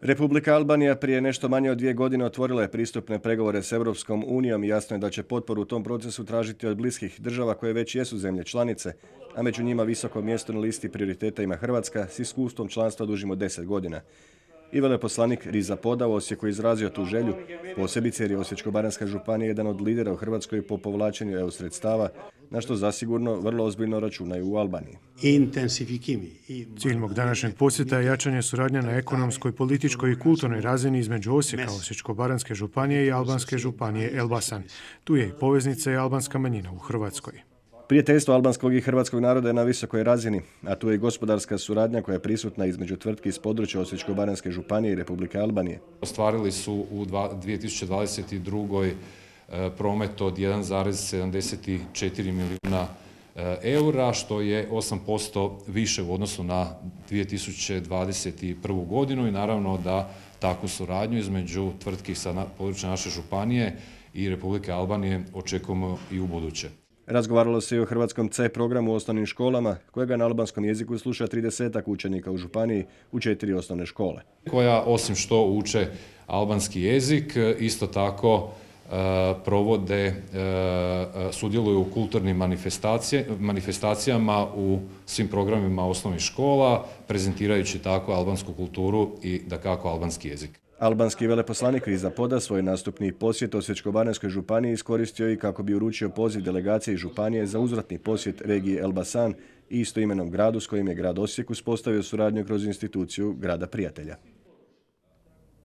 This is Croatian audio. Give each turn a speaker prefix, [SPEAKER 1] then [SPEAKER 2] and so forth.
[SPEAKER 1] Republika Albanija prije nešto manje od 2 godine otvorila je pristupne pregovore s Europskom unijom i jasno je da će potporu u tom procesu tražiti od bliskih država koje već jesu zemlje članice, a među njima visoko mjesto na listi prioriteta ima Hrvatska s iskustvom članstva dužim od 10 godina. I veleposlanik Riza Poda u Osijeku izrazio tu želju, posebice jer je Osječko-baranjska županija jedan od lidera u Hrvatskoj po povlačenju EU sredstava, na što zasigurno vrlo ozbiljno računaju u Albaniji.
[SPEAKER 2] Cilj mog današnjeg posjeta je jačanje suradnje na ekonomskoj, političkoj i kulturnoj razini između Osijeka, Osječko-baranjske županije i albanske županije Elbasan. Tu je i poveznica i albanska manjina u Hrvatskoj.
[SPEAKER 1] Prijateljstvo albanskog i hrvatskog naroda je na visokoj razini, a tu je i gospodarska suradnja koja je prisutna između tvrtki iz područja Osječko-baranjske županije i Republike Albanije.
[SPEAKER 3] Ostvarili su u 2022. promet od 1,74 milijuna eura, što je 8% više u odnosu na 2021. godinu i naravno da takvu suradnju između tvrtki sa područja naše županije i Republike Albanije očekujemo i u buduće.
[SPEAKER 1] Razgovaralo se i o hrvatskom C programu u osnovnim školama, kojega na albanskom jeziku sluša 30 učenika u županiji u 4 osnovne škole.
[SPEAKER 3] Koja osim što uče albanski jezik, isto tako provode, sudjeluju u kulturnim manifestacijama u svim programima osnovnih škola, prezentirajući tako albansku kulturu i dakako albanski jezik.
[SPEAKER 1] Albanski veleposlanik Riza Poda svoj nastupni posjet Osječko-baranjskoj županiji iskoristio i kako bi uručio poziv delegaciji županije za uzvratni posjet regiji Elbasan i istoimenom gradu s kojim je grad Osijek uspostavio suradnju kroz instituciju grada prijatelja.